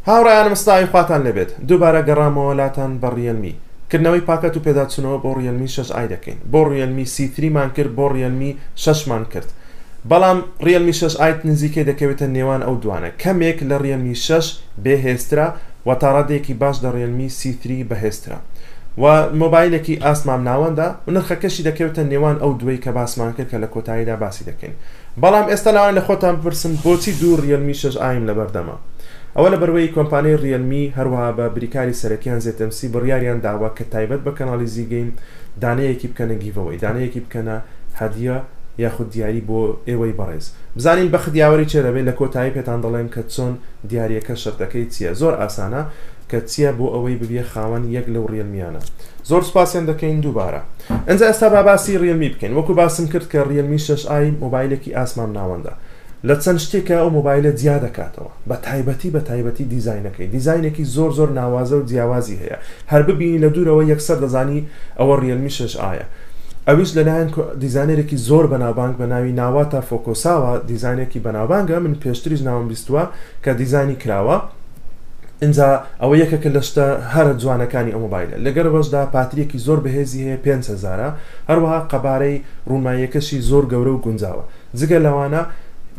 هاوڕێیانم سڵاوی خواتان لێبێت، دووبارە گەڕامەوە لاتان بە ڕیەلمی کردنەوەی پاکەت و پێداچوونەوە بۆ ڕیەلمی 6 i دەکەین. بۆ ڕیەلمی سی تریمان کرد، بۆ ڕیەلمی 6مان کرد، بەڵام ڕیەلمی 6 i نزیکەی دەکەوێتە نێوان ئەو دوانە، کەمێک لە ڕیەلمی 6 بێهێزترە و تاڕادەیەکی باش لە ڕیەلمی سی تری بەهێزترە و مۆبایلێکی ئاست مامناوەندە و نرخەکەشی دەکەوێتە نێوان ئەو دووەی کە باسمان کرد کە لە کۆتاییدا باسی دەکەین. بەڵام ئێستا لەوانەیە لە خۆتان بپرسن بۆچی دوو ڕیەلمی 6 i م لەبەردەمە؟ ئەوە لەبەروەی کۆمپانیای ڕیەلمی هەروەها بە بریکاری سەرەکیان ZMC بڕیاریان داوە کە تایبەت بە کەناڵی زی گەیم دانەیەکی بکەنە giveaway، دانەیەکی بکەنە هەدیە یاخود دیاری بۆ ئێوەی بەڕێز. بزانین بەخت یاوەری چێ دەبێت، لە کۆتایی پێتان دەڵێم کە چۆن دیاریەکە شەرتەکەی چیە. زۆر ئاسانە کە چیە بۆ ئەوەی ببیە خاوەن یەک لەو ڕیەلمیانە. زۆر سوپاسیان دەکەین دووبارە. ئینجا ئێستا با باسی ڕیەلمی بکەین. وەکو باسم کرد کە ڕیەلمی 6 i مۆبایلێکی ئاست مامناوەندە. لە چەند شتێکە ئەو مۆبایلە جیا دەکاتەوە، بە تایبەتی بە تایبەتی دیزاینەکەی، دیزاینێکی زۆر زۆر ناوازە و جیاوازی هەیە، هەر ببینی لە دوورەوە یەکسەر دەزانی ئەوە ڕیەلمی 6 i یە. ئەویش لەلایەن دیزاینەرێکی زۆر بەناوبانگ بە ناوی ناواتا فۆکۆساوا، دیزاینێکی بەناوبانگە، من پێشتریش ناوم بیستووە کە دیزاینی کراوە. ئینجا ئەوە یەکێکە لە شتە هەرە جوانەکانی ئەو مۆبایلە. لەگەر ئەوەشدا پاتریەکی زۆر بەهێزی هەیە 5000ە، هەروەها قەبارەی ڕوونماییەکەشی زۆر گەورە و گونجاوە. جگە لەوانە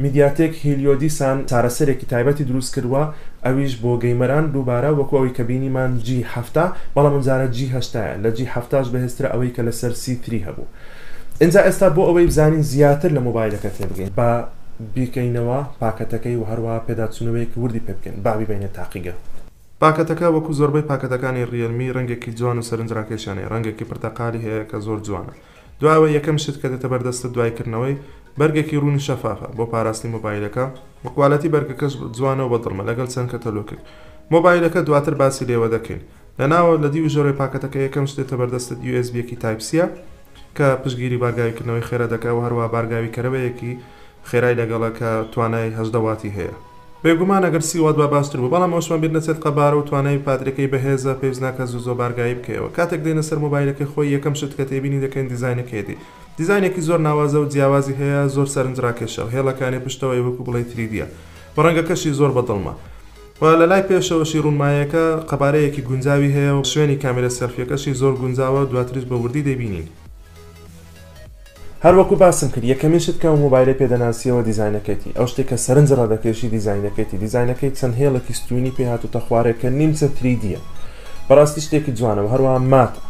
میدیاتێک هیلیۆ دیسان چارەسەرێکی تایبەتی دروست کردوە ئەویش بۆ gamer ان، دووبارە وەکو ئەوەی کە بینیمان جی 70، بەڵام ئەمجارە جی 80یە، لە جی 70ش بەهێزترە ئەوەی کە لەسەر سی تری هەبوو. ئینجا ئێستا بۆ ئەوەی بزانین زیاتر لە مۆبایلەکە تێبگەین با بیکەینەوە پاکەتەکەی و هەروەها پێداچوونەوەیەکی وردی پێ بکەین، با بیبەینە تاقیگە. پاکەتەکە وەکو زۆربەی پاکەتەکانی ڕیەلمی ڕەنگێکی جوان و سەرنجڕاکێشیان هەیە، ڕەنگێکی پرتەقالی هەیە کە زۆر جوانە. دوای ئەوەی یەکەم شت کە دێتە بەردەستت دوای کردنەوەی، بەرگێکی ڕوونی شەفافە بۆ پاراستنی مۆبایلەکە و quality بەرگەکەش جوانە و بەدڵمە لەگەڵ چەند کەتەلۆکێک. مۆبایلەکە دواتر باسی لێوە دەکەین. لە ناوە لە دیوی ژۆرەوەی پاکەتەکە یەکەم شت دێتە بەردەستت USB یەکی Type C یە کە پشتگیری بارگاویکردنەوەی خێرا دەکا و هەروەها بارگاویکەرەوەیەکی خێرای لەگەڵە کە توانای 18 واتی هەیە. بێگومان ئەگەر 30 وات با باشتر بوو، بەڵام ئەوەشمان بیر نەچێت قەبارە و توانای پاتریەکەی بەهێزە، پێویست ناکات زوو زوو بارگاوی بکەیەوە. کاتێک دێنە سەر مۆبایلەکەی خۆی یەکەم شت کە تێبینی دەکەین دیزاینەکەیەتی. دیزاینێکی زۆر ناوازە و جیاوازی هەیە، زۆر سەرنجڕاکێشە و هێڵەکانی پشتەوەی وەکو بڵێی 3D یە و ڕەنگەکەشی زۆر بەدڵمە. و لە لای پێشەوەشی ڕوونمایەکە قەبارەیەکی گونجاوی هەیە و شوێنی کامێرە سێڵفیەکەشی زۆر گونجاوە، دواتریش بە وردی دەیبینین. هەر وەکو باسم کرد یەکەمین شت کە ئەو مۆبایلەی پێ دەناسیەوە دیزاینەکەیتی، ئەو شتێک کە سەرنج ڕادەکێشی دیزاینەکەیتی، دیزاینەکەی چەند هێڵێکی ستوونی پێ هاتووتە خوارێ کە نیمچە 3D یە، بەڕاستی شتێکی جوانە و هەروەها matte ە،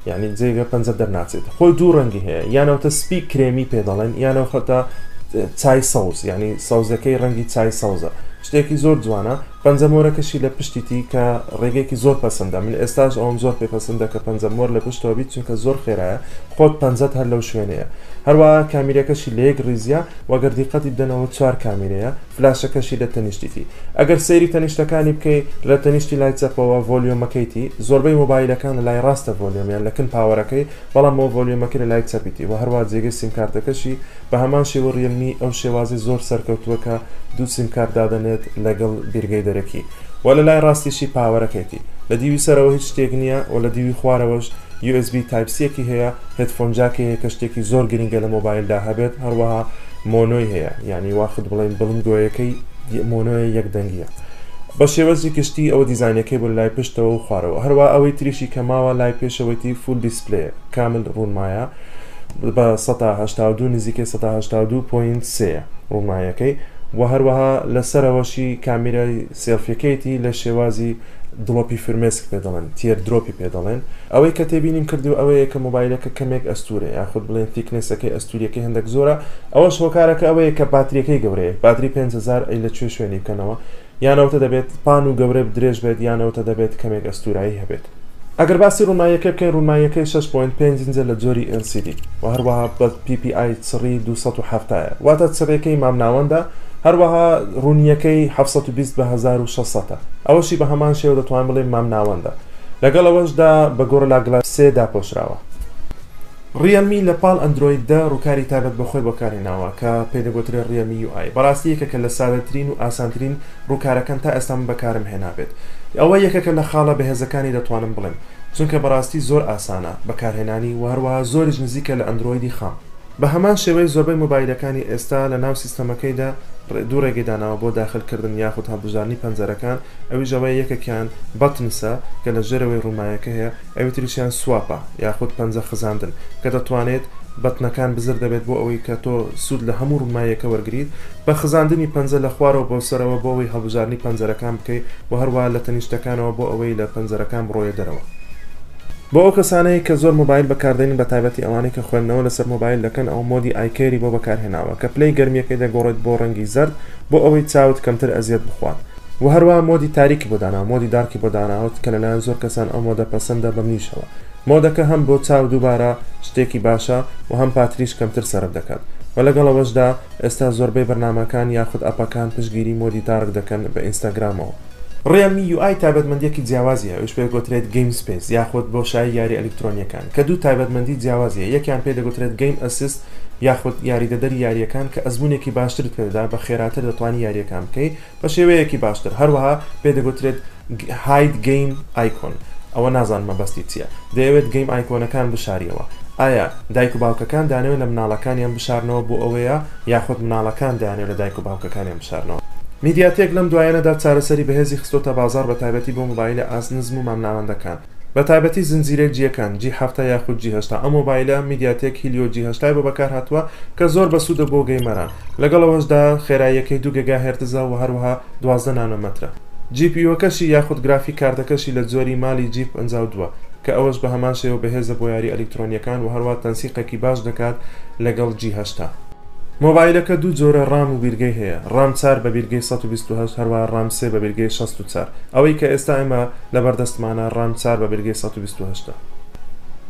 یعنی جێگە پەنجە دەرناچێت. خۆی دوو ڕەنگی هەیە، یانەوەتە سپی کرێمی پێ دەڵێن، یانەوەتە چای سەوز، یعنی سەوزەکەی ڕەنگی چای سەوزە، شتێکی زۆر جوانە. پەنجەمۆرەکەشی لە پشتیتی کە ڕێگەیەکی زۆر پەسەندە، من ئێستاش ئەوم زۆر پێ پەسەندە کە پەنجەمۆر لە پشتەوە بیت، چونکە زۆر خێرایە، خۆت پەنجەت هەر لەو شوێنەیە. هەروەها کامیرەکەشی لە یەک ڕیزیە و ئەگەر دیقەتی بدەنەوە چوار کامیرەیە، فلاشەکەشی لە تەنیشتیتی. ئەگەر سەیری تەنیشتەکانی بکەی لە تەنیشتی لای چەپەوە volume ەکەیتی، زۆربەی مۆبایلەکان لە لای ڕاستە volume یان لە کن power ەکەی، بەڵام ئەوە volume ەکەی لە لای چەپیتی. و هەروەها جێگەی سیمکارتەکەشی بە هەمان شێوە ڕیەلمی ئەو شێوازەی زۆر سەرکەوتووە کە دوو سیمکارت دادەنێت لەگەڵ بیرگەی دەرەکی. و لە لای ڕاستیشی power ەکەیتی. لە دیوی سەرەوە هیچ شتێک نییە و لە دیوی خوارەوەش USB Type C یەکی هەیە، headphone jack ی هەیە کە شتێکی زۆر گرنگە لە مۆبایلدا هەبێت، هەروەها mono ی هەیە، یعنی واخد بڵێن بڵندگۆیەکەی mono یە یەک دەنگیە. بە شێوەزی گشتی ئەوە دیزاینەکەی بۆ لای پشتەوە و خوارەوە. هەروە ئەوەی تریشی کە ماوە لای پێشەوەیتی full display ە، کامل ڕوونمایە بە 182، نزیکەی 182.3 ڕوونمایەکەی. و هەروەها لەسەرەوەشی کامیرای سێڵفیەکەیتی لە شێوازی دڵۆپی فرمێسک پێ دەڵێن، tear drop ی پێ دەڵێن. ئەوەی کە تێبینیم کردو ئەوەیە کە مۆبایلەکە کەمێک ئەستورە، یاخود بڵێن thickness ەکەی ئەستوریەکەی هەندێک زۆرە. ئەوەش هۆکارەکە ئەوەیە کە باتریەکەی گەورەیە، باتری 5000 ئەی لە کوێ شوێنی بکەنەوە، یانەوەتە دەبێت پان و گەورە درێژ بێت، یانەوەتە دەبێت کەمێک ئەستورایی هەبێت. ئەگەر باسی ڕوونماییەکەی بکەین، ڕوونماییەکەی 6.5 ئینجە لە جۆری LCD و هەروەها بە PPI چڕی 270، واتە چڕیەکەی مامناوەندە. هەروەها ڕوونیەکەی 720 بە 1600، ئەوەشی بە هەمان شێوە دەتوانین بڵێین مامناوەندە. لەگەڵ ئەوەشدا بە Gorilla Glass 3 داپۆشراوە. ڕیەلمی لە پاڵ ئەندرۆید 10 ڕووکاری تایبەت بە خۆی بەکارهێناوە کە پێی دەگوترێت ڕیەلمی UI. بەڕاستی یەکێکە لە سادەترین و ئاسانترین ڕووکارەکان تا ئێستا من بەکارم هێنابێت. ئەوە یەکێکە لە خاڵە بەهێزەکانی دەتوانم بڵێم، چونکە بەڕاستی زۆر ئاسانە بەکارهێنانی و هەروەها زۆریش نزیکە لە ئەندرۆیدی خام. بە هەمان شێوەی زۆربەی مۆبایلەکانی ئێستا لە ناو سیستەمەکەیدا دوو ڕێگەی داناوە بۆ داخل کردن یاخود هەڵبژاردنی پەنجەرەکان، ئەویش ئەوەیە یەکێکیان buttons ە کە لە ژێرەوەی ڕوونمایەکە هەیە، ئەوی تریشیان swipe ە یاخود پەنجە خزاندن کە دەتوانێت button ەکان بزر دەبێت بۆ ئەوەی کە تۆ سوود لە هەموو ڕوونماییەکە وەرگریت بە خزاندنی پەنجە لە خوارەوە بۆ سەرەوە بۆ ئەوەی هەڵبژاردنی پەنجەرەکان بکەی و هەروەها لە تەنیشتەکانەوە بۆ ئەوەی لە پەنجەرەکان بڕۆیە دەرەوە. بۆ ئەو کەسانەی کە زۆر مۆبایل بەکاردێنن بەتایبەتی ئەوانەی کە خوێندنەوە لەسەر مۆبایل دەکەن ئەو mode ی eye care ی بۆ بەکارهێناوە کە پلەی گەرمیەکەی دەگۆڕێت بۆ ڕەنگی زەرد بۆ ئەوەی چاوت کەمتر ئەزیەت بخوات وە هەروەها mode ی تاریکی بۆ داناوە mode ی dark ی بۆ داناوە کە لەلایەن زۆر کەسان ئەو mode ە پەسەندە بەمنیشەوە mode ەکە هەم بۆ چاو دووبارە شتێکی باشە وە هەم پاتریش کەمتر سەرف دەکات وە لەگەڵ ئەوەشدا ئێستا زۆربەی بەرنامەکان یاخود ئەپەکان پشتگیری mode ی dark دەکەن بە ئینستاگرامەوە. ڕیەلمی UI تایبەتمەندییەکی جیاوازی هەیە ئەویش پێی دەگوترێت Game Space یاخود بۆشایی یارییە ئەلیکترۆنییەکان کە دوو تایبەتمەندی جیاوازی هەیە یەکیان پێی دەگوترێت Game Assist یاخود یاریدەدەری یارییەکان کە ئەزموونێکی باشترت پێدەدا بە خێراتر دەتوانی یارییەکان بکەی بە شێوەیەکی باشتر هەروەها پێی دەگوترێت Hide Game Icon ئەوە نازانم مەبەستی چیە دەیەوێت game icon ەکان بشاریەوە ئایا دایک و باوکەکان دانەوێت لە مناڵەکانیان بشارنەوە بۆ ئەوەیە یاخود مناڵەکان دەیانەوێت لە دایک و باوکەکانیان بشارنەوە. میدیاتێک لەم دوایانەدا چارەسەری بەهێزی خستۆتە بازاڕ بەتایبەتی بۆ مۆبایلە ئاست نزم و مامناوەندەکان بەتایبەتی زنجیرەی G یەکان G 70 یاخود G 80 ئەم مۆبایلە میدیاتێک هیلیۆ G هەشتای بۆ بەکارهاتووە کە زۆر بەسوودە بۆ gamer ان لەگەڵ ئەوەشدا خێراییەکەی دوو گێگا هێرتزە و هەروەها 12 نانۆمەترە. GPU ەکەشی یاخود graphic card ەکەشی لە جۆری مالی G 52 ە کە ئەوەش بە هەمان شێوە بەهێزە بۆ یاری ئەلیکترۆنیەکان و هەروا تەنسیقێکی باش دەکات لەگەڵ G 80. مۆبایلەکە دوو جۆرە ڕام و بیرگەی هەیە، ڕام چار بە بیرگەی 128 هەروەها ڕام سێ بە بیرگەی 64. ئەوەی کە ئێستا ئێمە لەبەردەستمانە ڕام چار بە بیرگەی 128 ە.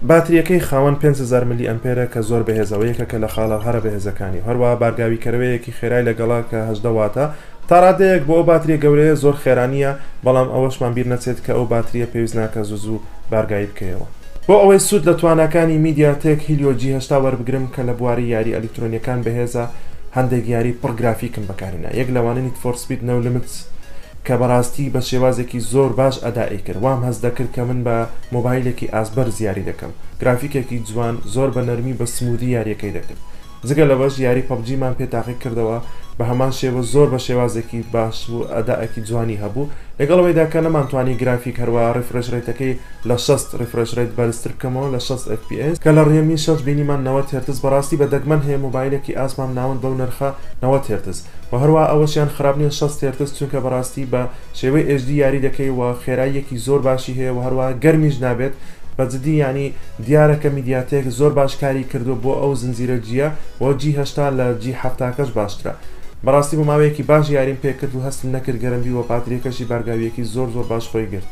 باتریەکەی خاوەن 5000 ملی ئەمپێرە کە زۆر بەهێزە و یەکێکە لە خاڵە هەرە بەهێزەکانی و هەروەها بارگاویکەرەوەیەکی خێرای لەگەڵە کە 18 واتە تاڕادەیەک بۆ ئەو باتریە گەورەیە زۆر خێرا نییە، بەڵام ئەوەشمان بیر نەچێت کە ئەو باتریە پێویست ناکا زوو زوو بارگایی بکەیەوە. بۆ ئەوەی سوود لە تواناکانی میدیاتێک هیلیۆ G 80 وەربگرم کە لە بواری یاری ئەلیکترۆنیەکان بەهێزە، هەندێک یاری پڕ گرافیکم بەکارهێنا، یەک لەوانە Need for Speed No Limits کە بەڕاستی بە شێوازێکی زۆر باش ئەدائی کرد، وام هەست دەکرد کە من بە مۆبایلێکی ئاست بەرز یاری دەکەم، گرافیکێکی جوان زۆر بە نەرمی بە smooth ی یاریەکەی دەکرد. جگە لەوەش یاری PUBG مان پێ تاقی کردەوە بە هەمان شێوە زۆر بە شێوازێکی باش و ئەدائێکی جوانی هەبوو لەگەڵ ئەوەیدا کە نەمانتوانی گرافیک هەروا refresh rate ەکەی لە 60 refresh rate بەرزتر بکەمەوە لە 60 FPS کە لە ڕیەلمی 6 بینیمان 90 هێرتز بەڕاستی بە دەگمەن هەیە مۆبایلێکی ئاست مامناوەند بەو نرخە 90 هێرتز و هەروا ئەوەشیان خراپ نیە 60 هێرتز چونکە بەڕاستی بە شێوەی HD یاری دەکەی و خێراییەکی زۆر باشی هەیە و هەروەها گەرمیش نابێت بە جدی یانی دیارە کە میدیاتێک زۆر باش کاری کردووە بۆ ئەو زنجیرە G یە و G 80 لە G حەفتاکەش باشترە بەڕاستی بۆ ماوەیەکی باش یاریم پێ کرد و هەستم نەکرد گەرم بی وە پاتریەکەشی بارگاویەکی زۆر زۆر باش خۆی گرت.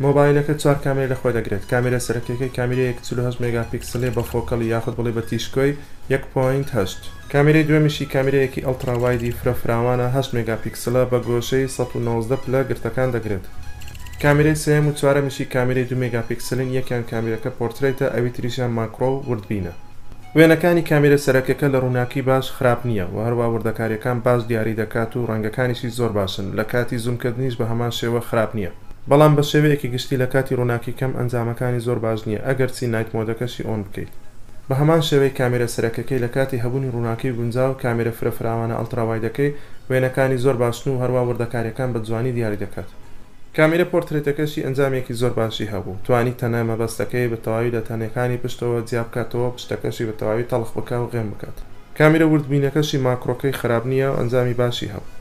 مۆبایلەکە چوار کامێرە لە خۆی دەگرێت، کامێرە سەرەکیەکەی کامیرەیەکی 48 مێگا پیکسڵیە بە focal ی یاخود بڵێی بە تیشکۆی یەک point هەشت. کامیرەی دووەمیشی کامیرەیەکی ultra wide ی فرە فراوانە هەشت مێگا پیکسلە بە گۆشەی 119 پلە گرتەکان دەگرێت. کامیرەی سێیەم و چوارەمیشی کامیرەی دوو مێگا پیکسلین یەکیان کامیرەکە portrait ە ئەوی تریشیان macro و وردبینە. وێنەکانی کامیرە سەرەکیەکە لە ڕووناکی باش خراپ نییە و هەروا وردەکاریەکان باش دیاری دەکات و ڕەنگەکانیشی زۆر باشن لە کاتی zoom کردنیش بە هەمان شێوە خراپ نییە. بەڵام بە شێوەیەکی گشتی لە کاتی ڕووناکی کەم ئەنجامەکانی زۆر باش نییە ئەگەرچی night mode ەکەشی on بکەیت. بە هەمان شێوەی کامێرە سەرەکەکەی لە کاتی هەبوونی ڕووناکی گونجاو کامێرە فرە فراوانە ultra wide ەکەی وێنەکانی زۆر باشن و هەروا وردەکاریەکان بە جوانی دیاری دەکات. کامێرە portrait ەکەشی ئەنجامێکی زۆر باشی هەبوو توانی تەنە مەبەستەکەی بە تەواوی لە تەنەکانی پشتەوە جیا بکاتەوە پشتەکەشی بە تەواوی تەڵخ بکا و غێم بکات. کامێرە وردبینەکەشی macro کەی خراپ نیە و ئەنجامی باشی هەبوو.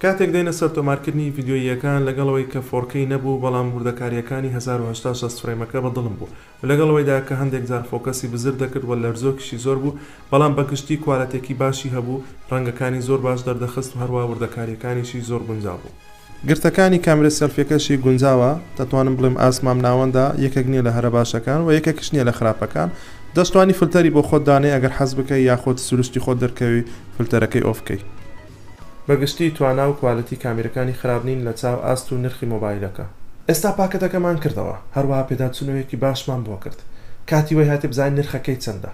کاتێک دێینە سەر تۆمارکردنی ڤیدیۆییەکان لەگەڵ ئەوەی کە 4K نەبوو بەڵام وردەکارییەکانی 1080 60 frame ەکە بە دڵم بوو و لەگەڵ ئەوەیدا کە هەندێک جار focus ی بزر دەکرد و لەرزۆکیشی زۆر بوو بەڵام بە گشتی quality ێکی باشی هەبوو ڕەنگەکانی زۆر باش دەردەخست و هەروا وردەکارییەکانیشی زۆر گونجاو بوو. گرتەکانی کامێرە سێڵفیەکەشی گونجاوە دەتوانم بڵێم ئاست مامناوەندە یەکێک نییە لە هەرە باشەکان و یەکێکیش نییە لە خراپەکان دەشتوانی فلتەری بۆ خۆت دانێی ئەگەر حەز بکەی یاخود سروشتی خۆت دەرکەوی فلتەرەکەی off کەی. بە گشتی توانا و quality کامیرەکانی خراپ نین لە چاو ئاست و نرخی مۆبایلەکە. ئێستا پاکەتەکەمان کردەوە هەروەها پێداچوونەوەیەکی باشمان بۆ کرد کاتی وەی هاتیە بزانین نرخەکەی چەندە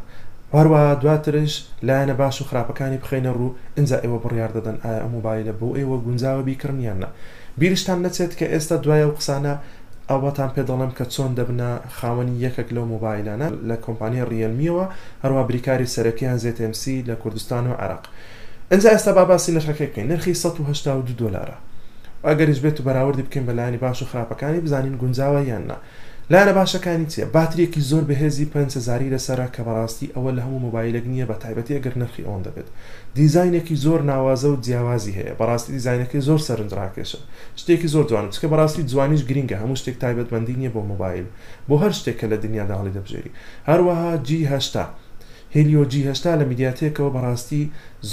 و هەروەها دواترش لایەنە باش و خراپەکانی بخەینە ڕوو ئینجا ئێوە بڕیار دەدەن ئایا ئەم مۆبایلە بۆ ئێوە گونجاوە بیکڕن یان نا بیرشتان نەچێت کە ئێستا دوای ئەو قسانە ئەوەتان پێ دەڵێم کە چۆن دەبنە خاوەنی یەکێک لەو مۆبایلانە لە کۆمپانیای ڕیەلمیەوە هەروەها بریکاری سەرەکیان ZMC لە کوردستان و عێراق. ئینجا ئێستا با باسی نرخەکەی بکەین نرخی 182 دۆلارە ئەگەریش بێت و بەراوردی بکەین بە لایەنی باش و خراپەکانی بزانین گونجاوە یان نا لایەنە باشەکانی چیە؟ باتریەکی زۆر بەهێزی پێنج هەزاری لەسەرە کە بەڕاستی ئەوە لە هەموو مۆبایلێک نیە بە تایبەتی ئەگەر نرخی ئەوەندە بێت. دیزاینێکی زۆر ناوازە و جیاوازی هەیە بەڕاستی دیزاینەکەی زۆر سەرنج ڕاکێشە شتێکی زۆر جوانە چونکە بەڕاستی جوانیش گرینگە هەموو شتێک تایبەتمەندی نیە بۆ مۆبایل بۆ هەر شتێک کە لە دنیادا هەڵیدەبژێری هەروەها جی 80 هیلیۆ جی 80 لە میدیاتێکەوە بەڕاستی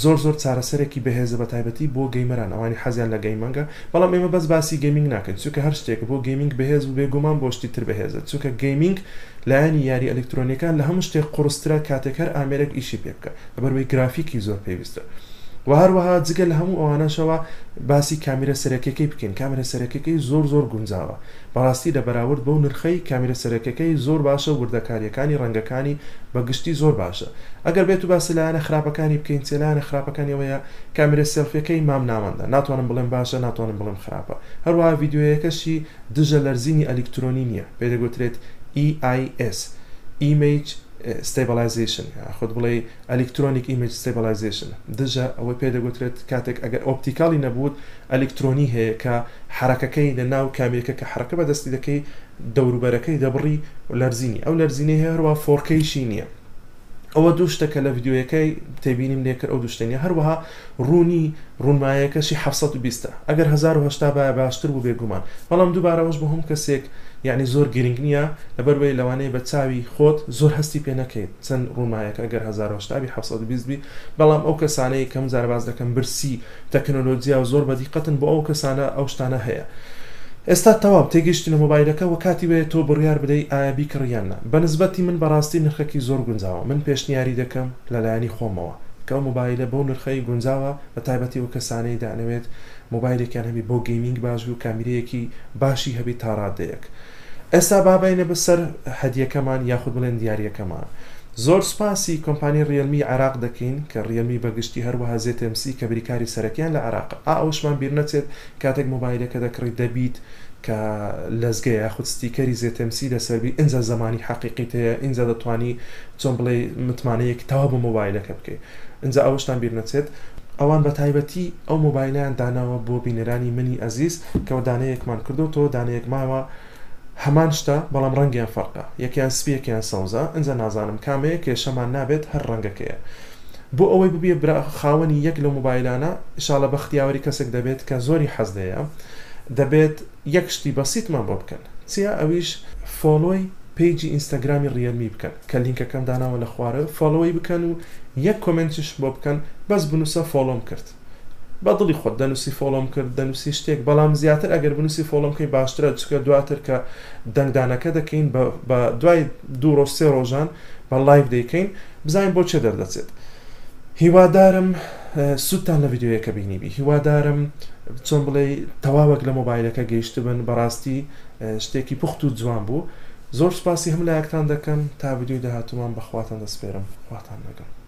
زۆر زۆر چارەسەرێکی بەهێزە بەتایبەتی بۆ gamer ان ئەوانی حەزیان لە gaming ە بەڵام ئێمە بەس باسی gaming ناکەین چونکە هەر شتێک بۆ gaming بەهێز بوو بێگومان بۆ شتی تر بەهێزە چونکە gaming لایەنی یاری ئەلکترۆنیەکان لە هەموو شتێک قوڕسترە کاتێک هەر ئامێرێک ئیشی پێ بکە لەبەروەی گرافیکی زۆر پێویستە وە هەروەها جگە لە هەموو ئەوانەشەوە باسی کامیرە سەرەکیەکەی بکەین کامێرە سەرەکیەکەی زۆر زۆر گونجاوە بەڕاستی لە بەراورد بەو نرخەی کامیرە سەرەکیەکەی زۆر باشە وردەکاریەکانی ڕەنگەکانی بە گشتی زۆر باشە ئەگەر بێتو باسی لایەنە خراپەکانی بکەین چیە لایەنە خراپەکانی ئەوەیە کامیرە سێڵفیەکەی مام ناوەندە ناتوانم بڵێم باشە ناتوانم بڵێم خراپە هەروەها ڤیدیۆیەکەشی دژە لەرزینی ئەلیکترۆنی نیە پێ دەگوترێت EIS Image Stabilization یاخود بڵێی Electronic Image Stabilization دژە ئەوەی پێ دەگوترێت کاتێک ئەگەر optical ی نەبووت ئەلیکترۆنی هەیە کە حەرەکەکەی لە ناو کامیرەکە کە حەرەکە بە دەستی دەکەی دەوروبەرەکەی دەبڕی لەرزینی ئەو لەرزینەی هەیە هەروەها 4K شی نییە ئەوە دوو شتە کە لە ڤیدیۆیەکەی تێبینیم لێکرد ئەو دوو شتە نیە هەروەها ڕوونی ڕوونمایەکەشی 720 ئەگەر 1080 باە باشتر بوو بێگومان بەڵام دووبارەوەش بۆ هەموو کەسێک یعنی زۆر گرنگ نییە لەبەروەی لەوانەیە بە چاوی خۆت زۆر هەستی پێ نەکەیت چەند ڕوونمایەکە ئەگەر 1080 بی 720 بی بەڵام ئەو کەسانەی کەم جارە باس دەکەم برسی تەکنۆلۆجیا و زۆر بە دیقەتن بۆ ئەو کەسانە ئەو شتانە هەیە ئێستا تەواو تێگەیشتی لە مۆبایلەکە وە کاتی وەیە تۆ بڕیار بدەی ئایا بیکڕی یان نا بە نسبەتی من بەڕاستی نرخەکی زۆر گونجاوە من پێشنیاری دەکەم لە لایەنی خۆمەوە کە ئەو مۆبایلە بەو نرخەی گونجاوە بە تایبەتی ئەو کەسانەی دەیانەوێت مۆبایلێکیان هەبی بۆ gaming باش بی و کامیرەیەکی باشی هەبی تا ڕادەیەک ئێستا با بینە بەسەر هەدیەکەمان یاخود بڵێن دیاریەکەمان. زۆر سوپاسی کۆمپانی ڕیەلمی عێراق دەکەین کە ڕیەلمی بە گشتی هەروەها ZMC کە بریکاری سەرەکیان لە عێراقە ئا ئەوەشمان بیر نەچێت کاتێک مۆبایلەکە دەکڕی دەبیت کە لەزگە یاخود ستیکەری ZMC لەسەر بی ئینجا زەمانی حەقیقیت هەیە ئینجا دەتوانی چۆن بڵێی متمانەیەکی تەواو بە مۆبایلەکە بکەی ئینجا ئەوەشتان بیر نەچێت ئەوان بە تایبەتی ئەو مۆبایلەیان داناوە بۆ بینەرانی منی ئەزیز کەوە دانەیەکمان کردۆتەوە دانەیەک ماوە هەمان شتە بەڵام ڕەنگیان فەرقە یەکیان سپی یەکیان سەوزە ئنجا نازانم کامەیە کێشەمان نابێت هەر ڕەنگەکەیە بۆ ئەوەی ببیە برا خاوەنی یەک لەو مۆبایلانە ئیشاڵە بەخت یاوەری کەسێک دەبێت کە زۆری حەز لێیە دەبێت یەک شتی بەسیتمان بۆ بکەن چیە ئەویش follow ی page ی ئینستاگرامی ڕیەلمی بکەن کە لینکەکەم داناوە لە خوارەوە follow ی بکەن و یەک comment یش بۆ بکەن بەس بنوسە follow م کرد بە دڵی خۆت دەنوسی follow م کرد دەنوسی شتێک بەڵام زیاتر ئەگەر بنوسی follow م کەی باشترە چونکە دواتر کە دەنگدانەکە دەکەین بە دوای دوو ڕۆژ سێ ڕۆژان بە live دەیکەین بزانین بۆ چێ دەردەچێت هیوادارم سوودتان لە ڤیدیۆیەکە بینیبی هیوادارم چۆن بڵێ تەواوەک لە مۆبایلەکە گەیشتبن بەڕاستی شتێکی پوخت و جوان بوو زۆر سوپاسی هەموو لایەکتان دەکەم تا ڤیدیۆی داهاتوومان بەخواتان دەسپێرم خواتان لەگەڵ.